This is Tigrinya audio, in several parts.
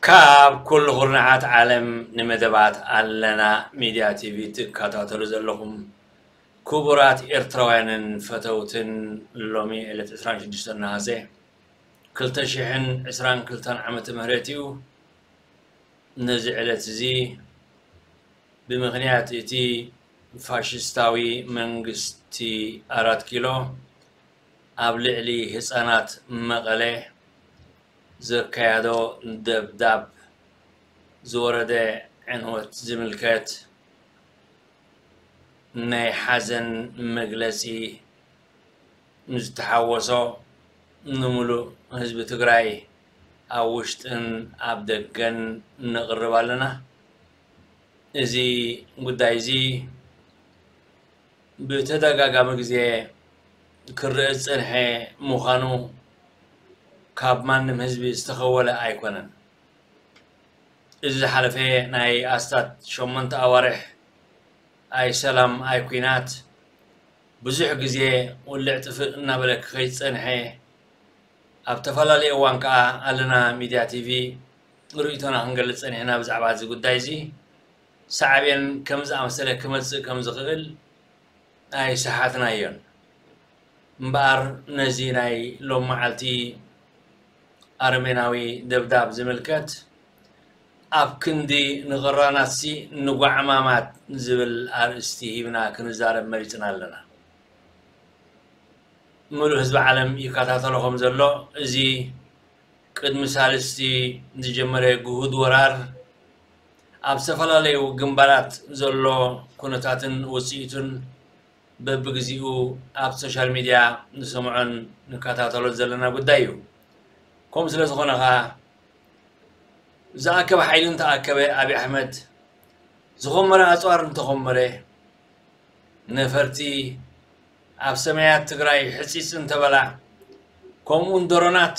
ካብ ኩሉ ኩርናዓት ዓለም ንመደባት ኣለና ሚድያ ቲቪ ትከታተሉ ዘለኹም ክቡራት ኤርትራውያንን ፈተውትን፣ ሎሚ ዕለት ዕስራን ሽዱሽተን ነሃሰ ክልተ ሽሕን ዕስራን ክልተን ዓመተ ምህረት እዩ። ነዚ ዕለት እዚ ብምኽንያት እቲ ፋሽስታዊ መንግስቲ ኣራት ኪሎ ኣብ ልዕሊ ህጻናት መቐለ ዘካየዶ ደብዳብ ዝወረደ ዕንወት ዝምልከት ናይ ሓዘን መግለጺ ንዝተሓወሶ ንምሉእ ህዝቢ ትግራይ ኣብ ውሽጥን ኣብ ደገን ነቕርብ ኣለና። እዚ ጉዳይ እዚ ብተደጋጋሚ ግዜ ክረአ ዝጸንሐ ምዃኑ ካብ ማንም ህዝቢ ዝተኸወለ ኣይኮነን። እዚ ዝሓለፈ ናይ ኣስታት ሸሞንተ ኣዋርሕ ኣይ ሰላም ኣይ ኲናት ብዙሕ ግዜ ውልዕ ጥፍእ እናበለ ክኸይድ ዝጸንሐ፣ ኣብ ተፈላለየ እዋን ከኣ ኣለና ሚድያ ቲቪ ርእይቶና ክንገልጽ ጸኒሕና ብዛዕባ እዚ ጉዳይ እዚ። ሳዕቤን ከም ዝኣመሰለ ክመጽእ ከም ዝኽእል ኣይሰሓትናዮን። እምበኣር ነዚ ናይ ሎም መዓልቲ ኣረሜናዊ ደብዳብ ዝምልከት ኣብ ክንዲ ንቕራናትሲ ንጓዕማማት ዝብል ኣርእስቲ ሂብና ክንዛረብ መሪጽና ኣለና። ምሉእ ህዝቢ ዓለም ይከታተሎ ከም ዘሎ፣ እዚ ቅድሚ ሳልስቲ ዝጀመረ ግሁድ ወራር ኣብ ዝተፈላለዩ ግንባራት ዘሎ ኩነታትን ውጽኢቱን በብግዚኡ ኣብ ሶሻል ሚድያ ንሰምዖን ንከታተሎን ዘለና ጉዳይ እዩ። ከምኡ ስለ ዝኾነ ኸኣ ዝኣከበ ሓይሊ እንተኣከበ፣ ኣብይ ኣሕመድ ዝኾመረ ኣፅዋር እንተኾመረ፣ ነፈርቲ ኣብ ሰማያት ትግራይ ሕፂፅ እንተበላ፣ ከምኡውን ድሮናት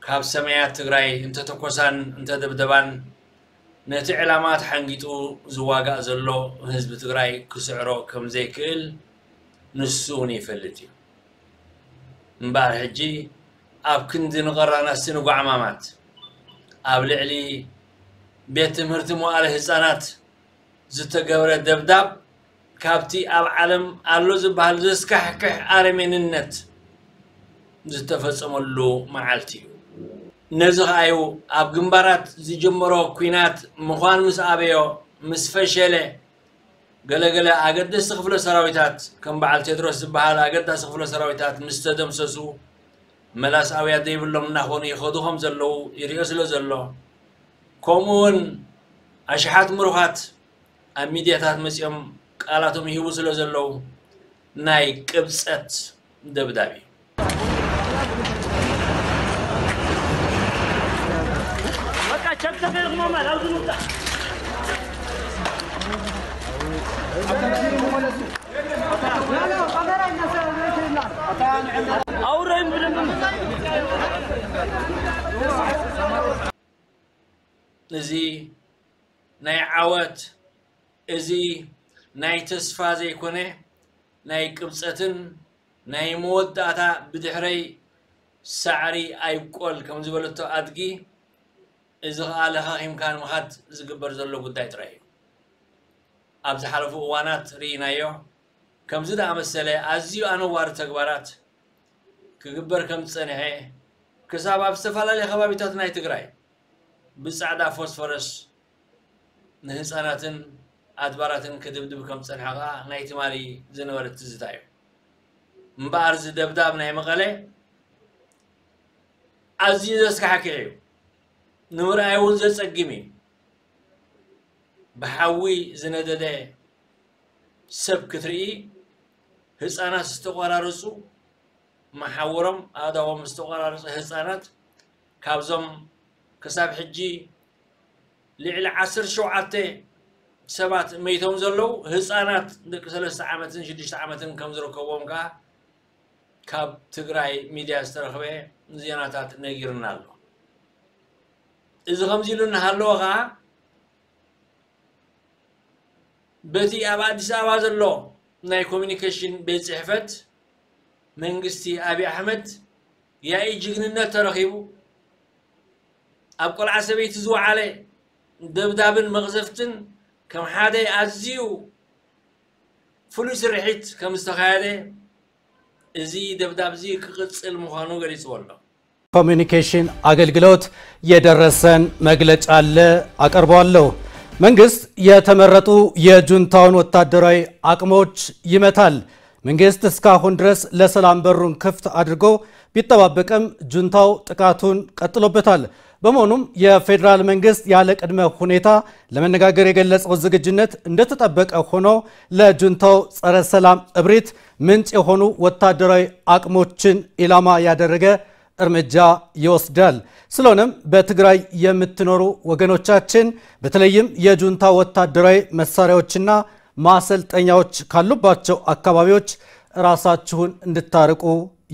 ካብ ሰማያት ትግራይ እንተተኮሳን እንተደብደባን፣ ነቲ ዕላማ ተሓንጊጡ ዝዋጋእ ዘሎ ህዝቢ ትግራይ ክስዕሮ ከም ዘይክእል ንሱ እውን ይፈልጥ እዩ። እምበኣር ሕጂ ኣብ ክንዲ ንቐራናሲ ንጓዕማማት፣ ኣብ ልዕሊ ቤት ትምህርቲ መዋእለ ህፃናት ዝተገብረ ደብዳብ ካብቲ ኣብ ዓለም ኣሎ ዝበሃል ዘስካሕክሕ ኣረሜንነት ዝተፈጸመሉ መዓልቲ እዩ። ነዚ ኸኣዩ ኣብ ግንባራት ዝጀመሮ ኲናት ምዃን ምስ ኣበዮ፣ ምስ ፈሸለ፣ ገለገለ ኣገደስቲ ክፍለ ሰራዊታት ከም በዓል ቴድሮስ ዝበሃል ኣገዳሲ ክፍለ ሰራዊታት ምስ ተደምሰሱ፣ መላስ ኣውያት ዘይብሎም እናኾኑ ይኸዱ ከም ዘለዉ ይርእዮ ስለ ዘሎ፣ ከምኡ እውን ኣሽሓት ምሩኻት ኣብ ሚድያታት መጺኦም ቃላቶም ይህቡ ስለ ዘለዉ ናይ ቅብጸት ደብዳብ እዩ። በቃ ቸክ ተፈይርኩሞ ማል ኣብዚ ምውጣ። ኣውረይም ብደንብ እዚ ናይ ዓወት፣ እዚ ናይ ተስፋ ዘይኮነ ናይ ቅብጸትን ናይ መወዳእታ ብድሕረይ ሳዕሪ ኣይብቆል ከም ዝበለቶ ኣድጊ፣ እዚ ኸኣ ለኻኺምካ ንምኻድ ዝግበር ዘሎ ጉዳይ ጥራይ እዩ። ኣብ ዝሓለፉ እዋናት ርኢናዮ። ከምዚ ዝኣመሰለ ኣዝዩ ኣነዋሪ ተግባራት ክግበር ከም ዝጸንሐ፣ ክሳብ ኣብ ዝተፈላለየ ከባቢታት ናይ ትግራይ ብጻዕዳ ፎስፈረስ ንህጻናትን ኣድባራትን ክድብድብ ከም ዝጸንሐ ከኣ ናይ ትማሊ ዝነበረ ትዝታ እዩ። እምበኣር፣ እዚ ደብዳብ ናይ መቐለ ኣዝዩ ዘስካሕክሕ እዩ። ንምርኣይ እውን ዘጸግም እዩ። ብሓዊ ዝነደደ ሰብ ክትርኢ፣ ህጻናት ዝተቖራረጹ፣ መሓውሮም ኣእዳዎም ዝተቖራረጸ ህጻናት፣ ካብዞም ክሳብ ሕጂ ልዕሊ ዓሰርተ ሸውዓተ ሰባት መይቶም ዘለዉ ህጻናት ደቂ ሰለስተ ዓመትን ሽዱሽተ ዓመትን ከም ዝርከብዎም ከኣ ካብ ትግራይ ሚድያ ዝተረኽበ ዜናታት ነጊሩና ኣሎ። እዚ ከምዚ ኢሉ እናሃለወ ከኣ በቲ ኣብ ኣዲስ ኣበባ ዘሎ ናይ ኮሚኒኬሽን ቤት ጽሕፈት መንግስቲ ኣብይ ኣሕመድ ያኢ ጅግንነት ተረኺቡ፣ ኣብ ቆልዓ ሰበይቲ ዝወዓለ ደብዳብን መቕዘፍትን ከም ሓደ ኣዝዩ ፍሉይ ስርሒት ከም ዝተኻየደ እዚ ደብዳብ እዚ ክቕጽል ምዃኑ ገሊጽዎ ኣሎ። ኮሚኒኬሽን ኣገልግሎት የደረሰን መግለጫ አለ፣ አቀርበዋለሁ። መንግስት የተመረጡ የጁንታውን ወታደራዊ አቅሞች ይመታል። መንግስት እስካሁን ድረስ ለሰላም በሩን ክፍት አድርጎ ቢጠባበቅም ጁንታው ጥቃቱን ቀጥሎበታል። በመሆኑም የፌዴራል መንግስት ያለ ቅድመ ሁኔታ ለመነጋገር የገለጸው ዝግጁነት እንደተጠበቀ ሆኖ ለጁንታው ጸረ ሰላም እብሪት ምንጭ የሆኑ ወታደራዊ አቅሞችን ኢላማ ያደረገ እርምጃ ይወስዳል። ስለሆነም በትግራይ የምትኖሩ ወገኖቻችን በተለይም የጁንታ ወታደራዊ መሳሪያዎችና ማሰልጠኛዎች ካሉባቸው አካባቢዎች ራሳችሁን እንድታርቁ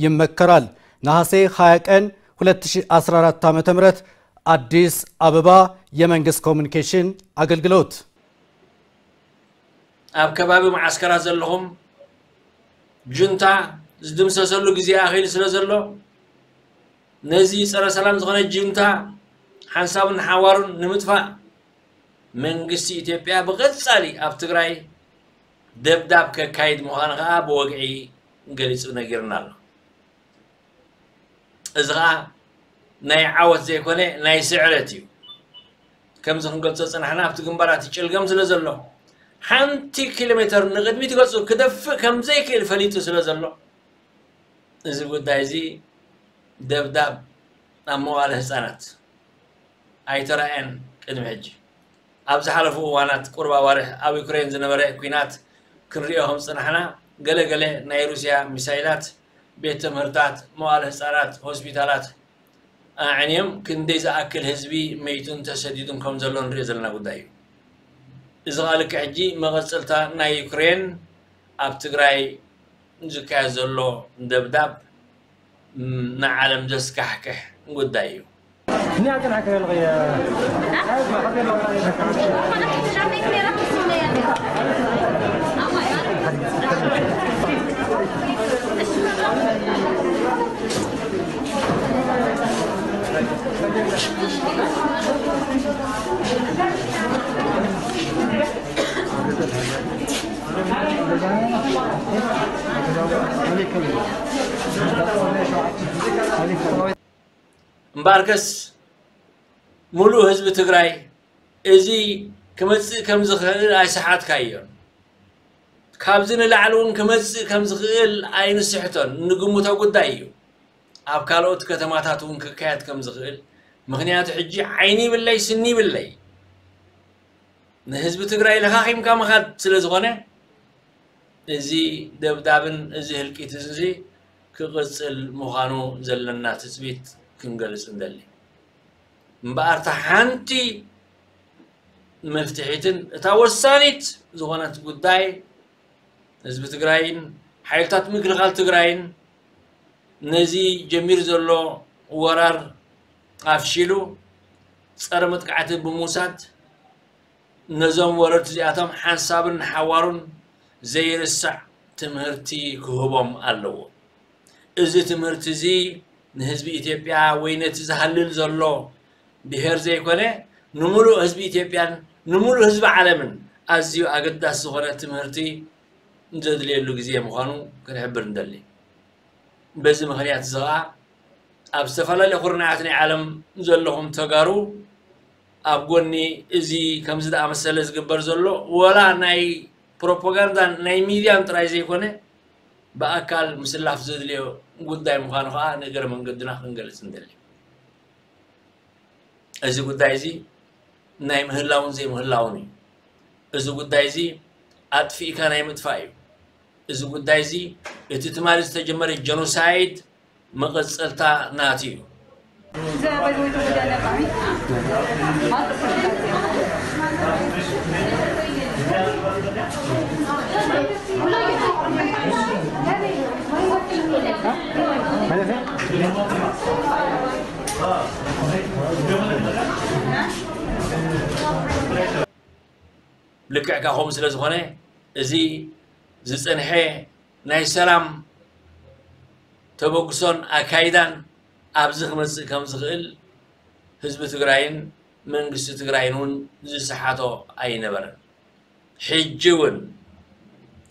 ይመከራል። ነሐሴ ሃያ ቀን ሁለት ሺህ አስራ አራት ዓመተ ምህረት አዲስ አበባ፣ የመንግስት ኮሚኒኬሽን አገልግሎት። ኣብ ከባቢ መዓስከራት ዘለኹም ጁንታ ዝድምሰሰሉ ግዜ ኣኺሉ ስለ ዘሎ ነዚ ጸረ ሰላም ዝኾነ ጁንታ ሓንሳብን ሓዋሩን ንምጥፋእ መንግስቲ ኢትዮጵያ ብቐጻሊ ኣብ ትግራይ ደብዳብ ከካይድ ምዃኑ ከዓ ብወግዒ ገሊጹ ነጊርና ኣሎ። እዚ ከዓ ናይ ዓወት ዘይኮነ ናይ ስዕረት እዩ። ከምዚ ክንገልጾ ዝጸናሕና ኣብቲ ግንባር እቲ ጭልገም ስለ ዘሎ ሓንቲ ኪሎ ሜተር ንቕድሚት ገጹ ክደፍእ ከም ዘይክእል ፈሊጡ ስለ ዘሎ እዚ ጉዳይ እዚ ደብዳብ ኣብ መዋለ ህጻናት ኣይተራእየን። ቅድሚ ሕጂ ኣብ ዝሓለፉ እዋናት ቁሩብ ኣዋርሕ ኣብ ዩክሬን ዝነበረ ኲናት ክንሪኦ ከም ዝጸናሕና ገለ ገለ ናይ ሩስያ ሚሳይላት ቤት ትምህርታት፣ መዋለ ህጻናት፣ ሆስፒታላት ኣዕንዮም ክንደይ ዝኣክል ህዝቢ መይቱን ተሰዲዱን ከም ዘሎ ንሪኦ ዘለና ጉዳይ እዩ። እዚ ከዓ ልክዕ ሕጂ መቐጸልታ ናይ ዩክሬን ኣብ ትግራይ ዝካየድ ዘሎ ደብዳብ ንዓለም ዘስካሕክሕ ጉዳይ እዩ። እምበኣርከስ ሙሉእ ህዝቢ ትግራይ እዚ ክመፅእ ከም ዝኽእል ኣይሰሓትካዮን። ካብዚ ንላዕሊ እውን ክመፅእ ከም ዝኽእል ኣይንስሕቶን፣ እንግምቶ ጉዳይ እዩ። ኣብ ካልኦት ከተማታት እውን ክካየድ ከም ዝኽእል፣ ምኽንያቱ ሕጂ ዓይኒ ይብለይ ስኒ ይብለይ ንህዝቢ ትግራይ ለኻኺምካ ምኻድ ስለ ዝኾነ እዚ ደብዳብን እዚ ህልቂት እዚ ክቕፅል ምዃኑ ዘለና ትፅቢት ክንገልፅ እንደሊ። እምበኣር እታ ሓንቲ መፍትሒትን እታ ወሳኒት ዝኾነት ጉዳይ ህዝቢ ትግራይን ሓይልታት ምክልኻል ትግራይን ነዚ ጀሚሩ ዘሎ ወራር ኣፍሺሉ ፀረ መጥቃዕቲ ብምውሳድ ነዞም ወረርቲ እዚኣቶም ሓንሳብን ሓዋሩን ዘይርሳዕ ትምህርቲ ክህቦም ኣለዎ። እዚ ትምህርቲ እዚ ንህዝቢ ኢትዮጵያ ወይ ነቲ ዝሃልል ዘሎ ብሄር ዘይኮነ ንምሉእ ህዝቢ ኢትዮጵያን ንምሉእ ህዝቢ ዓለምን ኣዝዩ ኣገዳሲ ዝኾነ ትምህርቲ ዘድልየሉ ግዜ ምዃኑ ክንሕብር እንደሊ። በዚ ምኽንያት እዚ ኸዓ ኣብ ዝተፈላለየ ኩርናዓት ናይ ዓለም ዘለኹም ተጋሩ ኣብ ጎኒ እዚ ከምዚ ዝኣመሰለ ዝግበር ዘሎ ወላ ናይ ፕሮፓጋንዳን ናይ ሚድያን ጥራይ ዘይኮነ ብኣካል ምስላፍ ዘድልዮ ጉዳይ ምዃኑ ከዓ ንእግረ መንገድና ክንገልፅ ንደሊ። እዚ ጉዳይ እዚ ናይ ምህላውን ዘይምህላውን እዩ። እዚ ጉዳይ እዚ ኣጥፊእካ ናይ ምጥፋእ እዩ። እዚ ጉዳይ እዚ እቲ ትማሊ ዝተጀመረ ጀኖሳይድ መቐፀልታ ናቱ እዩ። ልክዕ ካብኹም ስለ ዝኾነ እዚ ዝፀንሐ ናይ ሰላም ተበግሶን ኣካይዳን ኣብዚ ክመፅእ ከም ዝኽእል ህዝቢ ትግራይን መንግስቲ ትግራይን እውን ዝሰሓቶ ኣይነበረን። ሕጂ እውን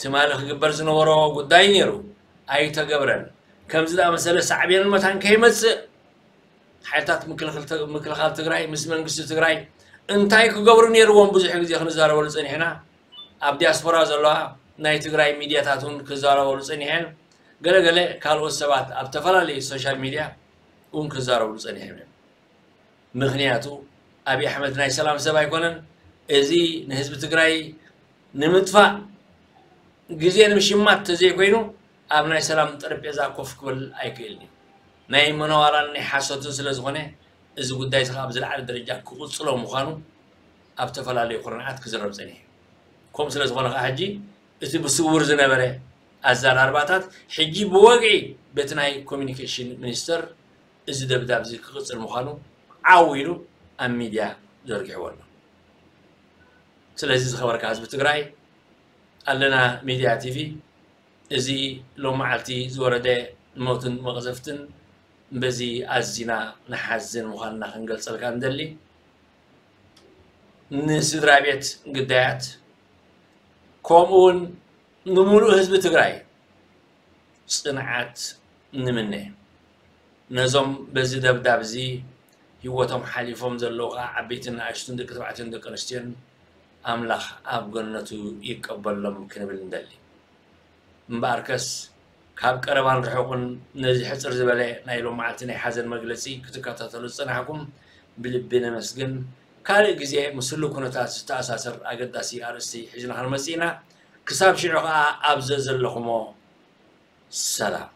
ትማሊ ክግበር ዝነበሮ ጉዳይ ነይሩ፣ ኣይተገብረን። ከምዚ ዝኣመሰለ ሳዕቤንን መታን ከይመፅእ ሓይልታት ምክልኻል ትግራይ ምስ መንግስቲ ትግራይ እንታይ ክገብሩ ነይርዎም ብዙሕ ግዜ ክንዛረበሉ ፀኒሕና። ኣብ ዲያስፖራ ዘለዋ ናይ ትግራይ ሚድያታት እውን ክዛረበሉ ፀኒሐን። ገለገለ ካልኦት ሰባት ኣብ ተፈላለዩ ሶሻል ሚድያ እውን ክዛረብሉ ፀኒሖም እዮም። ምኽንያቱ ኣብይ ኣሕመድ ናይ ሰላም ሰብ ኣይኮነን። እዚ ንህዝቢ ትግራይ ንምጥፋእ ግዜ ንምሽማት ተዘይኮይኑ ኣብ ናይ ሰላም ጠረጴዛ ኮፍ ክብል ኣይክእልን እዩ። ናይ መነዋራን ናይ ሓሶትን ስለ ዝኾነ እዚ ጉዳይ እዚ ኣብ ዝለዓለ ደረጃ ክቕፅሎ ምዃኑ ኣብ ዝተፈላለዩ ኩርናዓት ክዝረብ ፀኒሑ። ከምኡ ስለ ዝኾነ ከዓ ሕጂ እቲ ብስውር ዝነበረ ኣዘራርባታት ሕጂ ብወግዒ በቲ ናይ ኮሚኒኬሽን ሚኒስተር እዚ ደብዳብ እዚ ክቕፅል ምዃኑ ዓው ኢሉ ኣብ ሚድያ ዘርጊሕዎ ኣሎ። ስለዚ ዝኸበርካ ህዝቢ ትግራይ ኣለና ሚድያ ቲቪ እዚ ሎም መዓልቲ ዝወረደ ሞትን መቕዘፍትን በዚ ኣዚና ንሓዝን ምዃንና ክንገልጸልካ ንደሊ። ንስድራ ቤት ግዳያት ከምኡ እውን ንምሉእ ህዝቢ ትግራይ ፅንዓት ንምነ። ነዞም በዚ ደብዳብ እዚ ህይወቶም ሓሊፎም ዘለዉ ከዓ ዓበይትን ንኣሽቱን ደቂ ተባዕትዮን ደቂ ኣንስትዮን ኣምላኽ ኣብ ገነቱ ይቀበሎም ክንብል ንደሊ። እምበኣርከስ ካብ ቀረባን ርሑቕን ነዚ ሕፅር ዝበለ ናይ ሎማዓልቲ ናይ ሓዘን መግለፂ ክትከታተሉ ዝፀናሕኩም ብልቢ ነመስግን። ካልእ ግዜ ምስ ህሉው ኩነታት ዝተኣሳሰር ኣገዳሲ ኣርእስቲ ሒዝና ክንመፅእ ኢና። ክሳብ ሽዑ ከዓ ኣብ ዘዘለኹሞ ሰላም።